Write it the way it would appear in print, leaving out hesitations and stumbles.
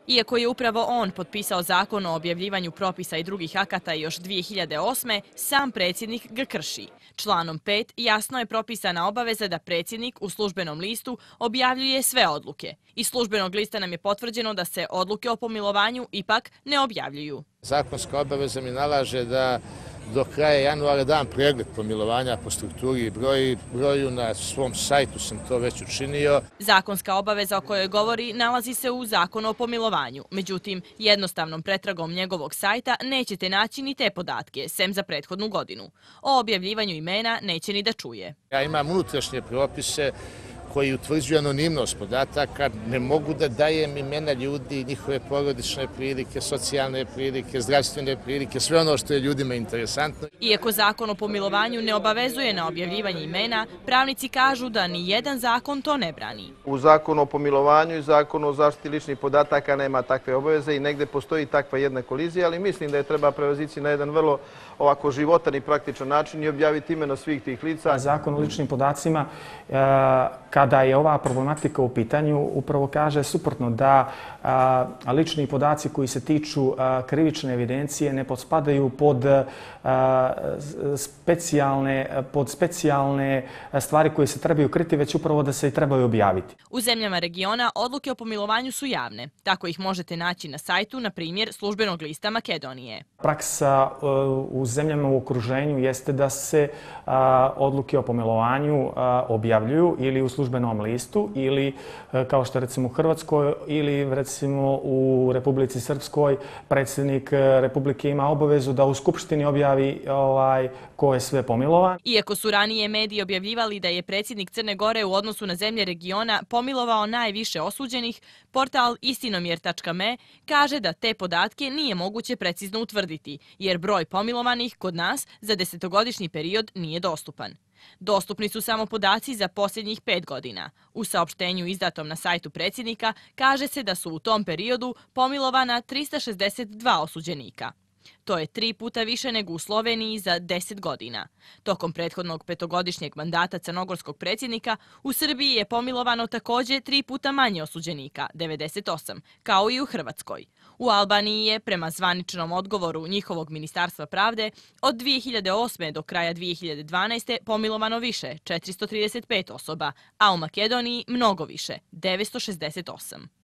Iako je upravo on potpisao zakon o objavljivanju propisa i drugih akata još 2008. sam predsjednik ga krši. Članom 5 jasno je propisana obaveza da predsjednik u službenom listu objavljuje sve odluke. Iz službenog lista nam je potvrđeno da se odluke o pomilovanju ipak ne objavljuju. Zakonska obaveza mi nalaže da do kraja januara dam pregled pomilovanja po strukturi i broju. Na svom sajtu sam to već učinio. Zakonska obaveza o kojoj govori nalazi se u Zakonu o pomilovanju. Međutim, jednostavnom pretragom njegovog sajta nećete naći ni te podatke, sem za prethodnu godinu. O objavljivanju imena neće ni da čuje. Ja imam unutrašnje propise koji utvrđuju anonimnost podataka, ne mogu da dajem imena ljudi, njihove porodične prilike, socijalne prilike, zdravstvene prilike, sve ono što je ljudima interesantno. Iako zakon o pomilovanju ne obavezuje na objavljivanje imena, pravnici kažu da ni jedan zakon to ne brani. U zakonu o pomilovanju i zakonu o zaštiti ličnih podataka nema takve obaveze i negde postoji takva jedna kolizija, ali mislim da je treba prevazići na jedan vrlo ovako životan i praktičan način i objaviti imena svih tih lica. Zakon o ličnim podacima, kada je ova problematika u pitanju, upravo kaže suprotno da lični podaci koji se tiču krivične evidencije ne potpadaju pod specijalne stvari koje se trebaju kriti, već upravo da se i trebaju objaviti. U zemljama regiona odluke o pomilovanju su javne. Tako ih možete naći na sajtu, na primjer, službenog lista Makedonije. Praksa u zemljama u okruženju jeste da se odluke o pomilovanju objavljuju ili u službenom listu ili, kao što recimo u Hrvatskoj ili recimo u Republici Srpskoj, predsjednik Republike ima obavezu da u Skupštini objavi ko je sve pomilovan. Iako su ranije mediji objavljivali da je predsjednik Crne Gore u odnosu na zemlje regiona pomilovao najviše osuđenih, portal istinomjer.me kaže da te podatke nije moguće precizno utvrditi, jer broj pomilovanih kod nas za 10-godišnji period nije dostupan. Dostupni su samo podaci za posljednjih 5 godina. U saopštenju izdatom na sajtu predsjednika kaže se da su u tom periodu pomilovana 362 osuđenika. To je 3 puta više nego u Sloveniji za 10 godina. Tokom prethodnog 5-godišnjeg mandata crnogorskog predsjednika u Srbiji je pomilovano također 3 puta manje osuđenika, 98, kao i u Hrvatskoj. U Albaniji je, prema zvaničnom odgovoru njihovog Ministarstva pravde, od 2008. do kraja 2012. pomilovano više, 435 osoba, a u Makedoniji mnogo više, 968.